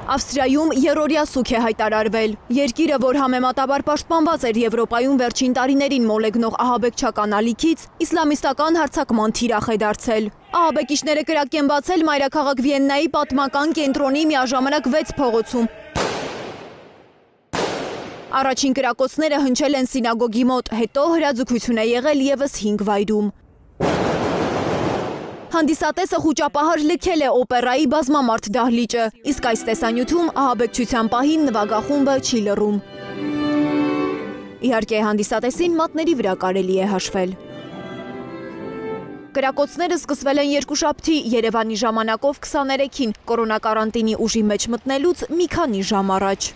Ավստրիայում երրորդյա սուգ է հայտարարվել։ Երկիրը, որ համեմատաբար պաշտպանված էր Եվրոպայում վերջին տարիներին մոլեգնող ահաբեկչական ալիքից, իսլամիստական հարձակման թիրախ է դարձել։ Ահաբեկիչները կրակ են բացել մայրաքաղաք Վիեննայի պատմական կենտրոնի միաժամանակ 6 փողոցում։ Առաջին կրակոցները հնչել են սինագոգի մոտ, հետո հրաձգություն է եղել ևս 5 վայրում։ Հանդիսատեսը խուճապահար լքել է օպերայի բազմամարդ դահլիճը, իսկ այս տեսանյութում ահաբեկչության պահին նվագախումբը չի լռում։ Իհարկե հանդիսատեսին մատների վրա կարելի է հաշվել։ Կրակոցները սկսվել են երկուշաբթի Երևանի ժամանակով 23-ին, կորոնակարանտինի ուժի մեջ մտնելուց մի քանի ժամ առաջ։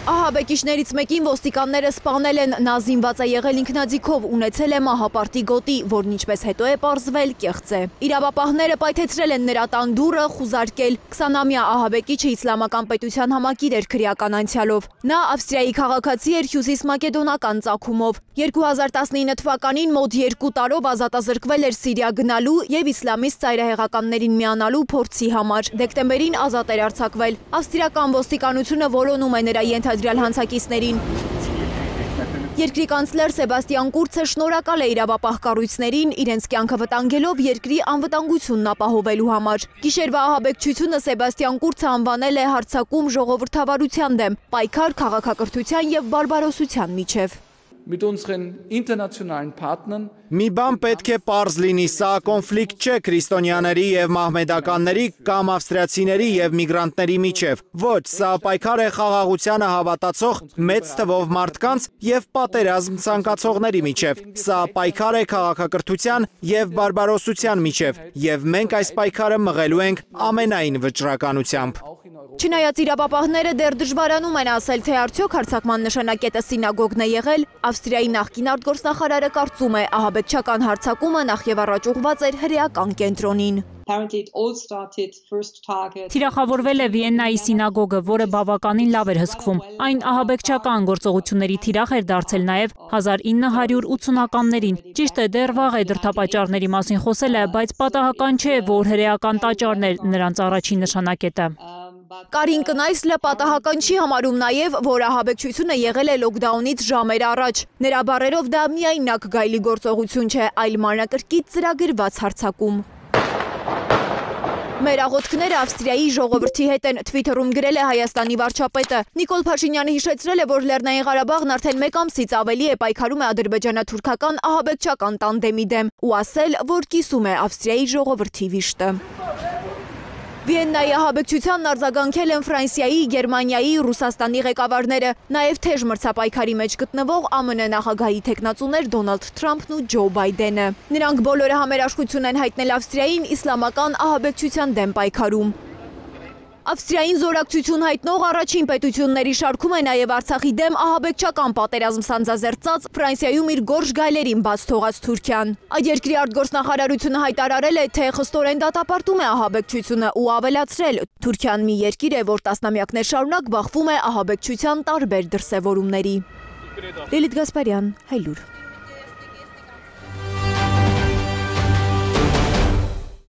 Ահաբեկիչներից մեկին ոստիկանները սպանել են, նա զինված է եղել ինքնաձիգով, ունեցել է մահապարտի գոտի, որն ինչպես հետո է պարզվել կեղծ է։ Իրավապահները պայթեցրել են նրա տան դուռը, խուզարկել։ 20-ամյա ահաբեկիչը իսլամական պետության համակիր էր քրեական անցյալով։ Նա Ավստրիայի քաղաքացի էր հյուսիս մակեդոնական ծագումով։ 2019 թվականին մոտ 2 տարով ազատազրկվել էր Սիրիա գնալու և իսլամիստ ծայրահեղականներին միանալու փորձի համար։ Դեկտեմբերին ազատ էր արձակվել։ Ավստրիական ոստիկանությունը որոնում է նրա ենթադրյալ հանցակիցներին։ Երկրի կանցլեր Սեբաստիան Կուրցը շնորհակալ է իրավապահ կառույցներին իրենց կյանքը վտանգելով երկրի անվտանգությունն ապահովելու համար։ Գիշերվա ահաբեկչությունը Սեբաստիան Կուրցը անվանել է հարձակում ժողովրդավարության դեմ, պայքար քաղաքակրթության և բարբարոսության միջև։ Մի բան պետք է պարզ լինի, սա կոնֆլիկտ չէ քրիստոնյաների և մահմեդականների կամ ավստրիացիների և միգրանտների միջև։ Ոչ, սա պայքար է խաղաղությանը հավատացող մեծ թվով մարդկանց և պատերազմ ցանկացողների միջև։ Սա պայքար է քաղաքակրթության և բարբարոսության միջև, և մենք այս պայքարը մղելու ենք ամենայն վճռականությամբ։ Չնայած իրավապահները դեռ դժվարանում են ասել, թե արդյոք հարձակման նշանակետը սինագոգն է եղել, Ավստրիայի նախկին արտգործնախարարը կարծում է, ահաբեկչական հարձակումը նախևառաջ ուղղված էր հրեական կենտրոնին։ Թիրախավորվել է Վիեննայի սինագոգը, որը բավականին լավ էր հսկվում։ Այն ահաբեկչական գործողությունների թիրախ էր դարձել նաև 1980-ականներին։ Ճիշտ է, դեռ վաղ է դրդապատճառների մասին խոսելը, բայց պատահական չէ, որ հրեական տաճարն էր նրանց առաջին նշանակետը։ Կարին Կնայսլը պատահական չի համարում նաև, որ ահաբեկչությունը եղել է լոքդաունից ժամեր առաջ։ Նրա բառերով դա միայնակ գայլի գործողություն չէ, այլ մանրակրկիտ ծրագրված հարձակում։ Մեր աղոթքները Ավստրիայի ժողովրդի հետ են, Twitter-ում գրել է Հայաստանի վարչապետը։ Նիկոլ Փաշինյանը հիշեցրել է, որ Լեռնային Ղարաբաղն արդեն 1 ամսից ավելի է պայքարում է ադրբեջանա-թուրքական ահաբեկչական տանդեմի դեմ ու ասել, որ կիսում է Ավստրիայի ժողովրդի վիշտը։ Վիեննայի ահաբեկչությանն արձագանքել են Ֆրանսիայի, Գերմանիայի, Ռուսաստանի ղեկավարները, նաև թեժ մրցապայքարի մեջ գտնվող ԱՄՆ նախագահի թեկնածուներ Դոնալդ Թրամփն ու Ջո Բայդենը։ Նրանք բոլորը համերաշխություն են հայտնել Ավստրիային իսլամական ահաբեկչության դեմ պայքարում։ Ավստրիային զորակցություն հայտնող առաջին պետությունների շարքում է նաև Արցախի դեմ ահաբեկչական պատերազմ սանձազերծած Ֆրանսիայում իր գորշ գայլերին բաց թողած Թուրքիան։ Այդ երկրի արտգործնախարարությունը հայտարարել է, թե խստորեն դատապարտում է ահաբեկչությունը ու ավելացրել. Թուրքիան մի երկիր է, որ տասնամյակներ շարունակ բախվում է ահաբեկչության տարբեր դրսևորումների։ Լիլիթ Գասպարյան, Հայլուր։